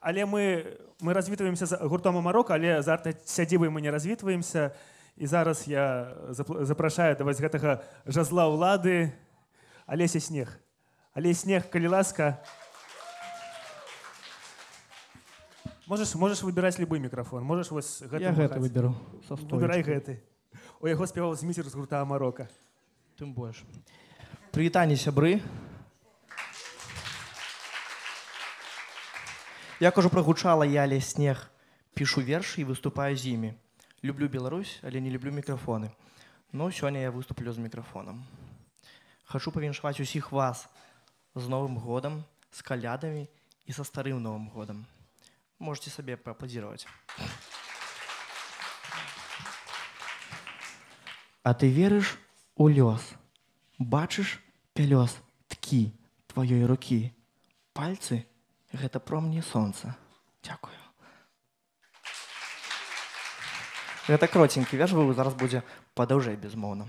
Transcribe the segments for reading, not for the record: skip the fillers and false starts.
Але мы развітваемся з гуртом Амарока, але з арт-сядзібай мы не развітваемся. І зараз я запрашаю да вось гэтага жазла ўлады Алеся Снег. Алесь Снег, калі ласка. Можешь выбирать любой микрофон. Можешь вось гэты. Я гэты выберу. Выбирай гэты. У яго спяваў зміцер з гурта Амарока. Тым больш. Прывітанне, сябры. Як ужо прагучала, я, Алесь Снег, пішу вершы і выступаю з імі. Люблю Беларусь, але не люблю мікрафоны. Но сёння я выступлю з мікрафонам. Хачу павіншаваць усіх вас з Новым годам, з калядамі і са старым Новым годам. Можете сабе пааплодзіраваць. А ты верыш у лёс, бачыш пялёс ткі тваёй рукі. Пальцы — гэта промні сонца. Дзякую. Гэта кроценькі верш быў, зараз будзе падаўжэй безмоўна.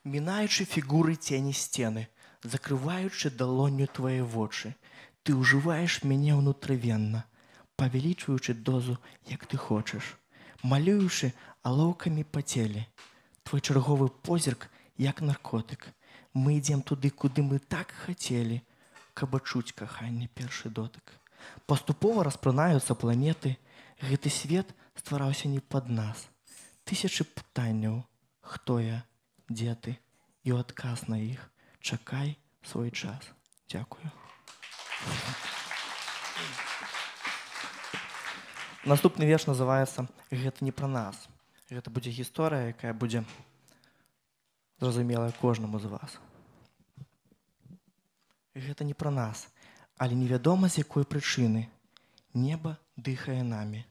Мінаючы фігуры цені сцены, закрываючы далонню твае вочы, ты ўжываеш мяне ўнутрывенна, павялічваючы дозу, як ты хочаш, малюючы алоўкамі па целе. Твой чарговы позірк, як наркотык. Мы ідзем туды, куды мы так хацелі, каб адчуць каханне першы дотык. Паступова распранаюцца планеты, гэты свет ствараўся не пад нас. Тысячы пытанняў, хто я, дзе ты, і ў адказ на іх чакай свой час. Дзякую. Наступны верш называецца «Гэта не пра нас». Гэта будзе гісторыя, якая будзе зразумелая кожнаму з вас. Гэта не пра нас, але невядома з якой прычыны. Неба дыхае намі,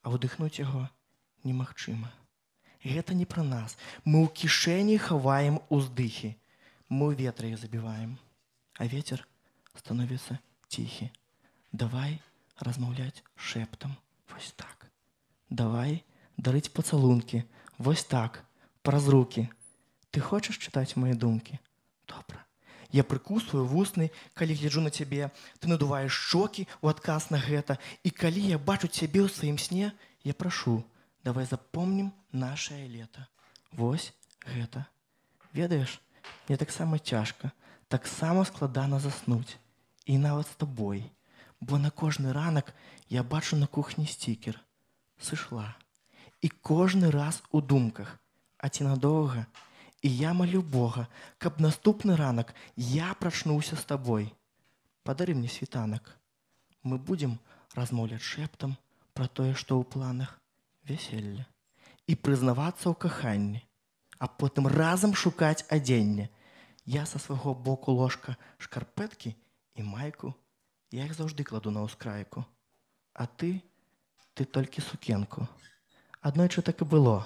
а ўдыхнуць яго немагчыма. Гэта не пра нас. Мы ў кішэні хаваем уздыхі. Мы ў ветры іх забіваем, а вецер становіцца ціхі. Давай размаўляць шэптам, вось так. Давай дарыць пацалункі, вось так, праз рукі. Ты хочаш чытаць мае думкі? Добра. Я прыкусваю вусны, калі гляджу на цябе. Ты надуваеш шчокі ў адказ на гэта. І калі я бачу цябе ў сваім сне, я прашу, давай запомнім нашае лета. Вось гэта. Ведаеш, мне таксама цяжка, таксама складана заснуць. І нават з табой. Бо на кожны ранак я бачу на кухні стікер. Сышла. І кожны раз у думках. А ці надоўга? І я малю Бога, каб наступны ранак я прачнуўся з табой. Падары мне світанак. Мы будзем размаўляць шэптам пра тое, што ў планах вяселля. І прызнавацца ў каханні. А потым разам шукаць адзенне. Я са свайго боку ложка шкарпэткі і майку. Я іх заўжды кладу на ўскрайку. А ты толькі сукенку. Аднойчы так і было.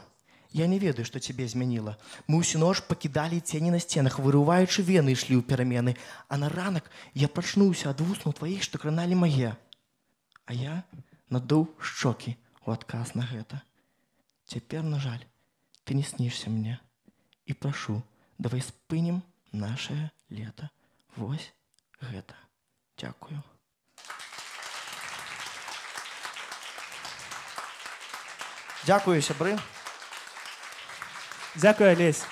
Я не ведаю, што цябе змяніла. Мы ўсю ноч пакідалі цені на сценах, вырываючы вены, ішлі ў перамены. А на ранак я прачнуўся ад вуснаў тваіх, што краналі мае. А я надуў шчокі ў адказ на гэта. Цяпер, на жаль, ты не снішся мне. І прашу, давай спынім нашае лета. Вось гэта. Дзякую. Дзякую, сябры. Дзякую, Алесь.